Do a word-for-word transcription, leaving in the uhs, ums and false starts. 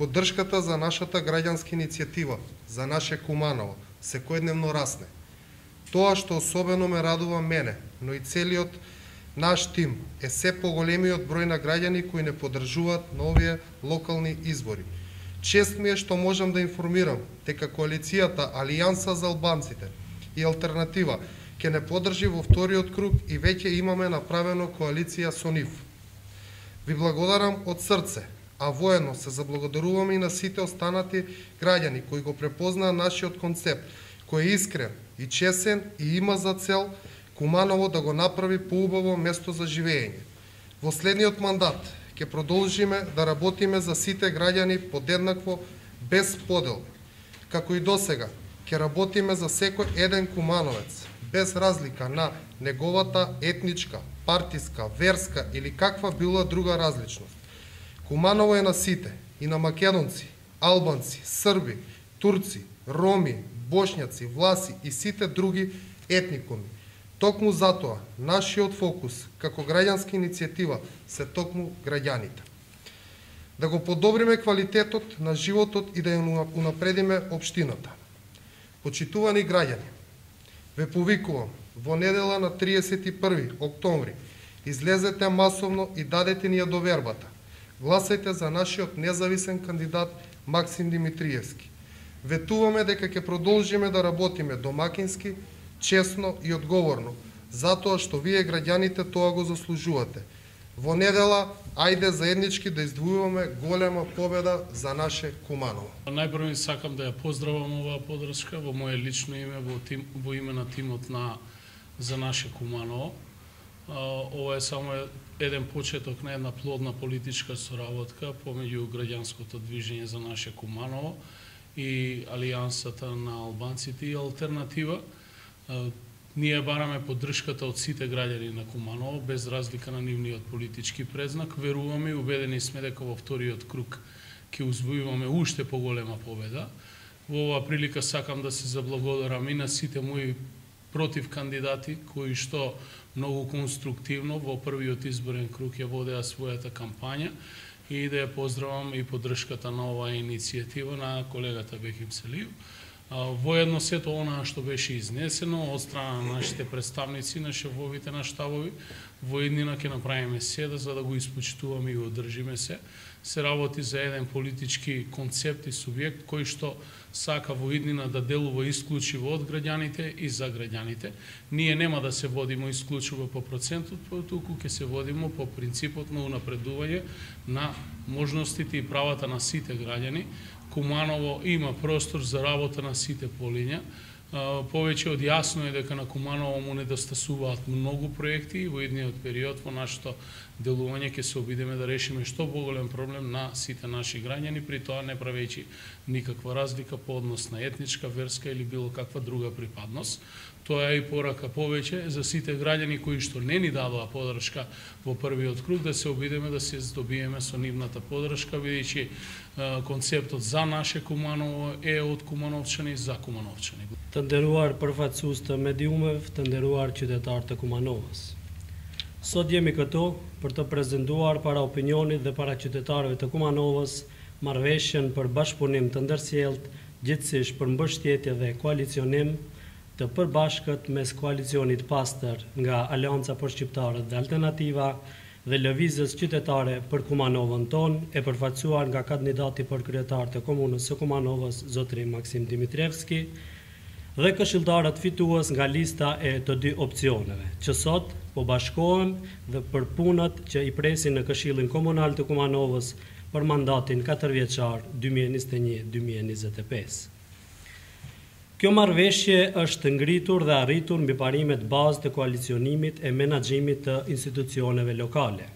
Поддршката за нашата граѓанска иницијатива, за наше Куманово, секојдневно расне. Тоа што особено ме радува мене, но и целиот наш тим, е се поголемиот број на граѓани кои не поддржуваат на овие локални избори. Чест ми е што можам да информирам дека коалицијата Алијанса за албанците и Алтернатива ќе не поддржи во вториот круг и веќе имаме направено коалиција со нив. Ви благодарам од срце, а воедно се заблагодаруваме и на сите останати граѓани кои го препознаа нашиот концепт, кој е искрен и чесен и има за цел Куманово да го направи поубаво место за живење. Во следниот мандат ќе продолжиме да работиме за сите граѓани подеднакво, без подел. Како и досега, ќе работиме за секој еден кумановец, без разлика на неговата етничка, партиска, верска или каква била друга различност. Куманово е на сите, и на македонци, албанци, срби, турци, роми, бошњаци, власи и сите други етникуми. Токму затоа, нашиот фокус, како граѓанска иницијатива, се токму граѓаните. Да го подобриме квалитетот на животот и да ја унапредиме општината. Почитувани граѓани, ве повикувам, во недела на триесет и први октомври, излезете масовно и дадете ни ја довербата. Гласајте за нашиот независен кандидат Максим Димитриевски. Ветуваме дека ќе продолжиме да работиме домакински, честно и одговорно, затоа што вие граѓаните тоа го заслужувате. Во недела, ајде заеднички да издвојуваме голема победа за наше Куманово. Најпрво сакам да ја поздравам оваа поддршка во мое лично име, во, тим, во име на тимот на за наше Куманово. Ова е само еден почеток на една плодна политичка соработка помеѓу граѓанското движење за наше Куманово и Алијансата на албанците и Алтернатива. Ние бараме поддршката од сите граѓани на Куманово, без разлика на нивниот политички предзнак. Веруваме и убедени сме дека во вториот круг ќе узвојуваме уште поголема победа. Во оваа прилика сакам да се заблагодарам и на сите мои против кандидати, кои што многу конструктивно во првиот изборен круг ја водеа својата кампања, и да ја поздравам и поддршката на оваа иницијатива на колегата Бехим Селиев. Воедно сето онаа што беше изнесено од страна на нашите представници, на шефовите на штабови, во иднина ќе направиме седа за да го испочитуваме и одржиме се. Се работи за еден политички концепт и субјект кој што сака во иднина да делува исклучиво од граѓаните и за граѓаните. Ние нема да се водиме исклучиво по процентот, туку ќе се водиме по принципот на унапредување на можностите и правата на сите граѓани. Куманово има простор за работа на сите полиња. Повеќе од јасно е дека на Куманово му недостасуваат многу проекти и во идниот период во нашето делување ќе се обидеме да решиме што поголем проблем на сите наши граѓани, при тоа не правејќи никаква разлика по однос на етничка, верска или било каква друга припадност. Тоа е и порака повеќе за сите граѓани кои што не ни дадоа поддршка во првиот круг, да се обидеме да се здобиеме со нивната поддршка, бидејќи концептот за наше Куманово е од кумановчани за кумановчани. Të nderuar përfaqësues të mediumeve, të nderuar qytetarë të Kumanovës. Sot jemi këtu për të prezantuar para opinionit dhe para qytetarëve të Kumanovës marrëveshjen për bashkëpunim të ndërsjellët, gjithsesi për mbështetje dhe koalicionim të përbashkët mes koalicionit pastër nga Aleanca për Shqiptarët dhe Alternativa dhe lëvizjes qytetare për Kumanovën tonë, e përfaqësuar nga kandidati për kryetar të komunës së Kumanovës, zotri Maksim Dimitrievski, dhe këshilltarët fitues nga lista e të dy opsioneve, që sot po bashkohen dhe për punët që i presin në Këshillin Komunal të Kumanovës për mandatin katër vjeçar dy mijë e njëzet e një dy mijë e njëzet e pesë. Kjo marrëveshje është ngritur dhe arritur mbi parimet bazë të koalicionimit e menaxhimit të institucioneve lokale.